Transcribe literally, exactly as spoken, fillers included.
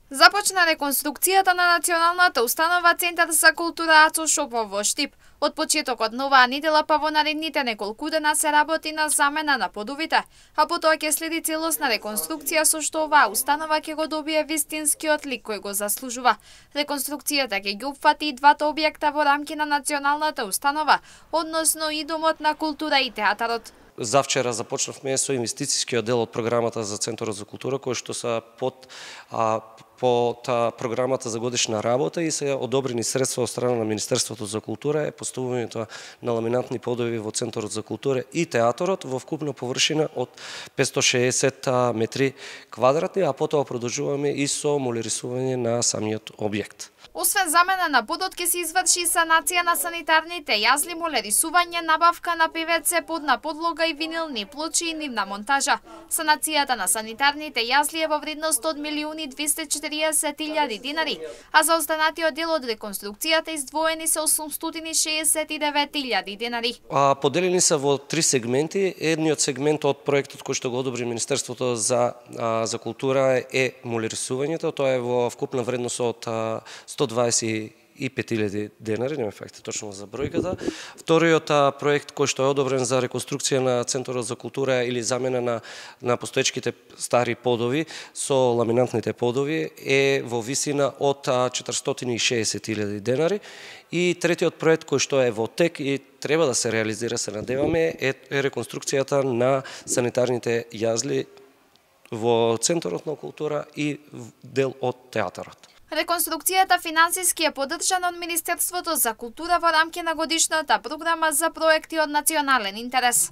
Започна реконструкцијата на Националната установа Центар за култура Ацо Шопов во Штип. Од почетокот на оваа недела па во наредните неколку дена се работи на замена на подовите, а потоа ќе следи целосна реконструкција со што оваа установа ќе го добие вистинскиот лик кој го заслужува. Реконструкцијата ќе ги опфати и двата објекта во рамки на Националната установа, односно и Домот на култура и театарот. Завчера започнавме со инвестицијскиот дел од програмата за Центарот за култура, кој што са под а, под а, програмата за годишна работа и се одобрени средства од страна на Министерството за култура е поставувањето на ламинатни подови во Центарот за култура и театарот во вкупна површина од петстотини и шеесет метри квадратни, а потоа продолжуваме и со молирисување на самиот објект. Освен замена на подот ќе се изврши санација на санитарните јазли, молерисување, набавка на пе ве це подна подлога и винилни плочи и нивна монтажа. Санацијата на санитарните јазли е во вредност од милиони двесте и четириесет илјади динари, а за останатиот дел од реконструкцијата издвоени се осумстотини и шеесет и девет илјади динари. А, поделени се во три сегменти. Едниот сегмент од проектот кој што го одобри Министерството за а, за култура е молерисувањето, тоа е во вкупна вредност од а, сто дваесет и пет илјади денари, нема факти точно за бројката. Вториот проект кој што е одобрен за реконструкција на Центарот за култура или замена на на постоечките стари подови со ламинантните подови е во висина од четиристотини и шеесет илјади денари. И третиот проект кој што е во тек и треба да се реализира, се надеваме, е, е реконструкцијата на санитарните јазли во Центарот на култура и дел од театарот. Реконструкцијата финансиски е поддржана од Министерството за култура во рамки на годишната програма за проекти од национален интерес.